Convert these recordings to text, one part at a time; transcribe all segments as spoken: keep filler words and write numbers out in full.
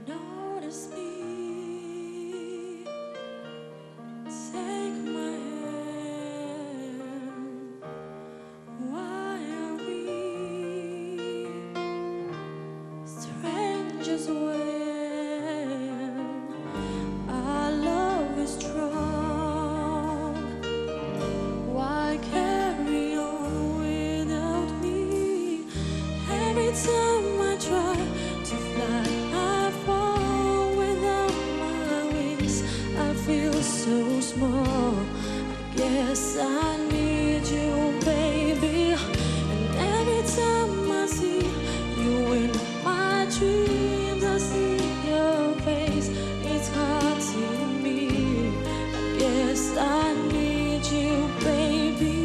Notice me, take my hand. Why are we strangers when our love is strong? Why carry on without me? Every time I try to fly, I fall without my wings. I feel so small. I guess I need you, baby. And every time I see you in my dreams, I see your face. It's haunting me. I guess I need you, baby.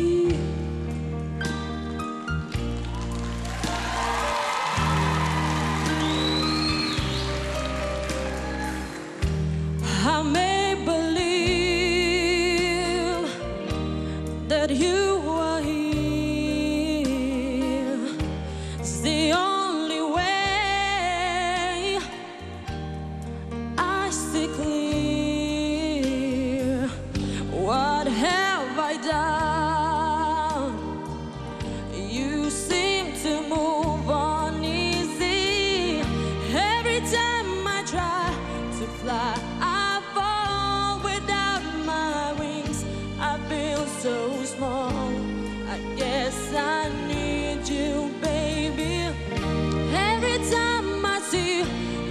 I may believe that you are here. It's the only way I see clear. What have I done? You seem to move on easy. Every time I try to fly, I fall without my wings. I feel so small. I guess I need you, baby. Every time I see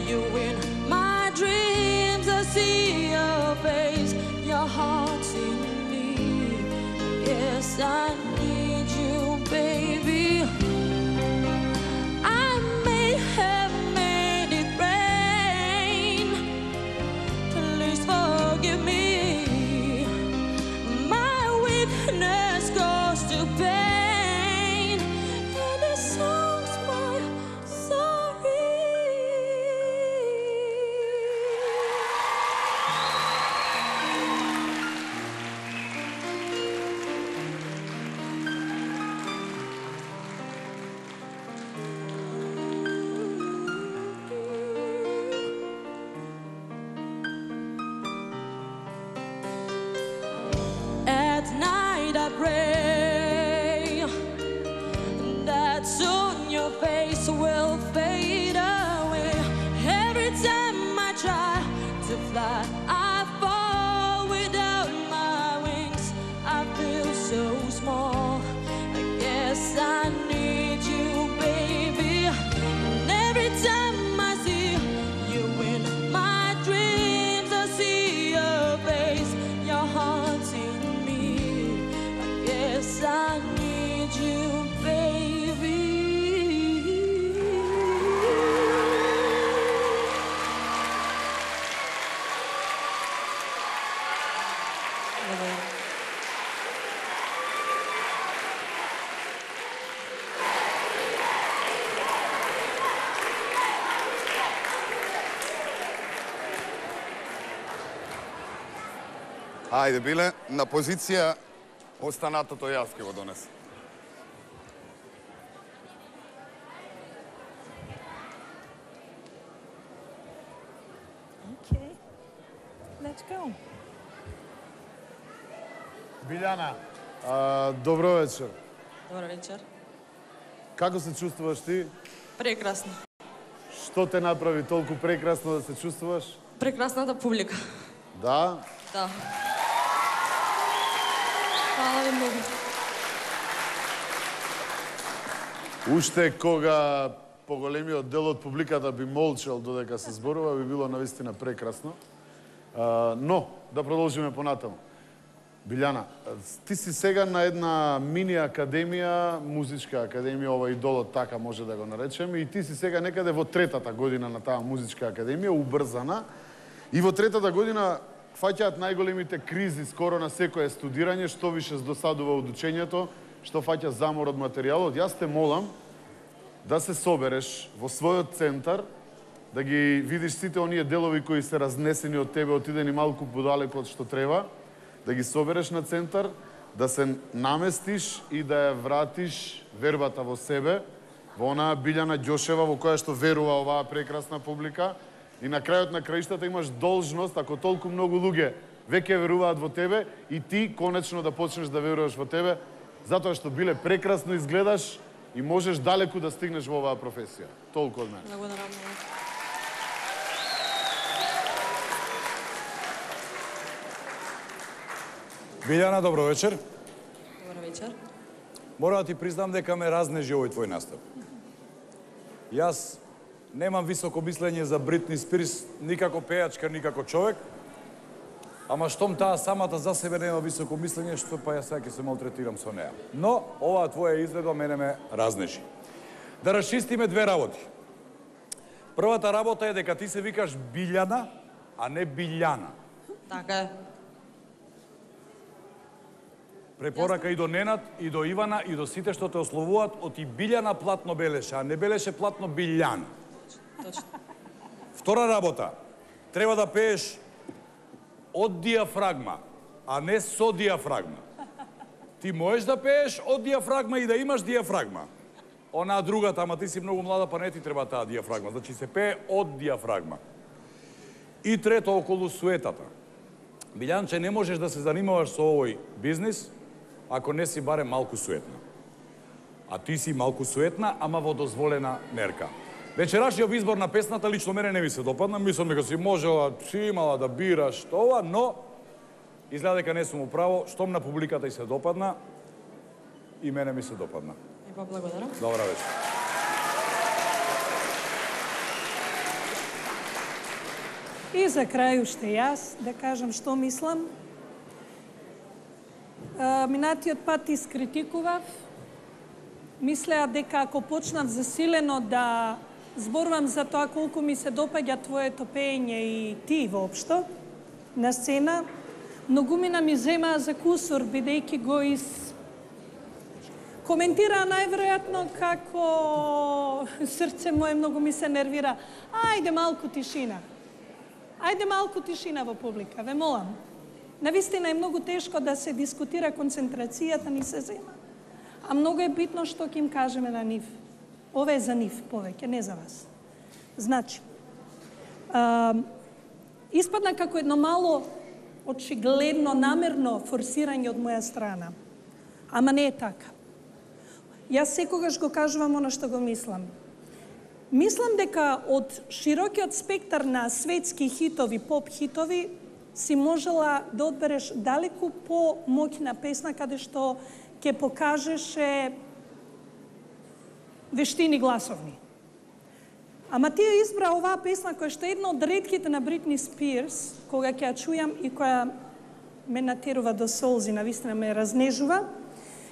you in my dreams, I see your face. Your heart's in me. Yes, I need you, baby. I may have made it rain. Please forgive me. My weakness goes to pain, and it sounds my sorry. At night I pray that soon your face will fade away. Every time I try to fly, I fall without my wings. I feel so small. I guess I need you, baby. And every time I see you in my dreams, I see your face. Your heart's in me. I guess I need you, baby. Ајде, Биле, на позиција останатото јас ќе го донесам. Okay, let's go. Билјана, а, добро вечер. Добър вечер. Како се чувствуваш ти? Прекрасно. Што те направи толку прекрасно да се чувствуваш? Прекрасната публика. Да? Да. Хвала ви многу. Уште кога поголемиот дел од публиката би молчал додека се зборува, би било навистина прекрасно. А, но, да продолжиме понатаму. Билјана, ти си сега на една мини академија, музичка академија, ова идолот така може да го наречеме, и ти си сега некаде во третата година на таа музичка академија, убрзана, и во третата година фаќаат најголемите кризи скоро на секое студирање, што више досадува од учењето, што фаќа замор од материјалот. Јас те молам да се собереш во својот центар, да ги видиш сите оние делови кои се разнесени од тебе, отидени малку подалеку од што треба, да ги собереш на центар, да се наместиш и да ја вратиш вербата во себе, во онаа Билјана Ѓошева во која што верува оваа прекрасна публика, и на крајот на краиштата имаш должност, ако толку многу луѓе веќе веруваат во тебе, и ти конечно да почнеш да веруваш во тебе, затоа што Биле прекрасно изгледаш и можеш далеку да стигнеш во оваа професија. Толку од мене. Благодарам. Билјана, добро вечер. Добро вечер. Мора да ти признам дека ме разнежи овој твој настап. Јас немам високо мислење за Бритни Спирс, никако пејачка, никако човек, ама штом таа самата за себе нема високо мислење, што па јас сега ќе се малтретирам со неа. Но, оваа твоја изгледа мене ме разнежи. Да расчистиме две работи. Првата работа е дека ти се викаш Билјана, а не Билјана. Така е. Препорака и до Ненад, и до Ивана, и до сите што те ословуваат, оти Билјана платно белеше, а не белеше платно Билјана. Точно. Втора работа. Треба да пееш од диафрагма, а не со диафрагма. Ти можеш да пееш од диафрагма и да имаш диафрагма. Онаа другата, ама ти си многу млада, па не ти треба таа диафрагма. Значи се пее од диафрагма. И трето, околу суетата. Билјанче, не можеш да се занимаваш со овој бизнис ако не си барем малку суетна. А ти си малку суетна, ама во дозволена мерка. Вечерашниот избор на песната лично мене не ми се допадна. Мислам дека си можела, си имала да бираш тоа, но изгледа дека не сум управо. Штом на публиката и се допадна, и мене ми се допадна. И па благодарам. Добра вечер. И за крај уште јас да кажам што мислам. Минатиот пат искритикував. Мислеа дека ако почнав засилено да зборувам за тоа колку ми се допаѓа твоето пеење и ти воопшто на сцена, многумина ми земаа за кусур, бидејќи го из коментираа најверојатно како срце мое многу ми се нервира. Ајде малку тишина. Ајде малку тишина во публика, ве молам. Навистина е многу тешко да се дискутира, концентрацијата ни се зема. А многу е битно што ќе им кажеме на нив. Ова е за нив повеќе, не за вас. Значи, а, испадна како едно мало, очигледно, намерно форсирање од моја страна. Ама не е така. Јас секогаш го кажувам оно што го мислам. Мислам дека од широкиот спектар на светски хитови, поп хитови, си можела да одбереш далеку по-моќна песна каде што ќе покажеше вештини гласовни. Ама ти ја избра оваа песна која што е една од ретките на Бритни Спирс, кога ќе ја чујам и која ме натерува до солзи, навистина ме разнежува.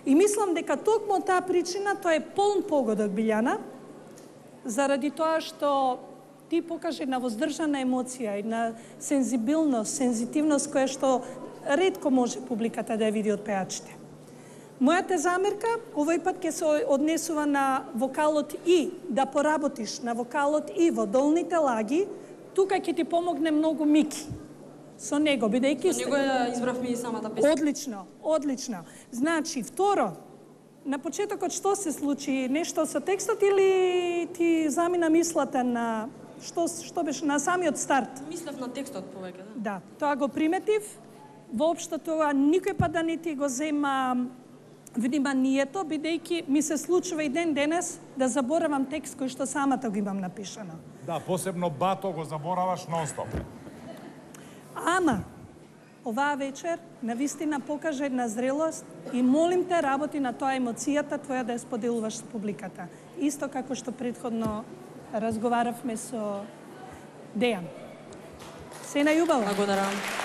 И мислам дека токму таа причина тоа е полн погодок, Билјана, заради тоа што ти покаже една воздржана емоција, една сензибилност, сензитивност која што ретко може публиката да ја види од пеачите. Мојата замерка овој пат ќе се однесува на вокалот и да поработиш на вокалот и во долните лаги, тука ќе ти помогне многу Мики. Со него, бидејќи... Со него ја избравме и самата песна. Одлично, одлично. Значи, второ, на почетокот што се случи? Нешто со текстот или ти замина мислата на... Што, што беше на самиот старт? Мислев на текстот повеќе, да. Да, тоа го приметив. Воопшто тоа никој пат да не ти го зема вниманието, бидејќи ми се случува и ден денес да заборавам текст кој што самата го имам напишано. Да, посебно Бато го забораваш нон-стоп. Ама, оваа вечер навистина покажа една зрелост и молим те работи на тоа емоцијата твоја да ја споделуваш со публиката. Исто како што претходно разговаравме со Дејан. Се најубаво. Благодарам.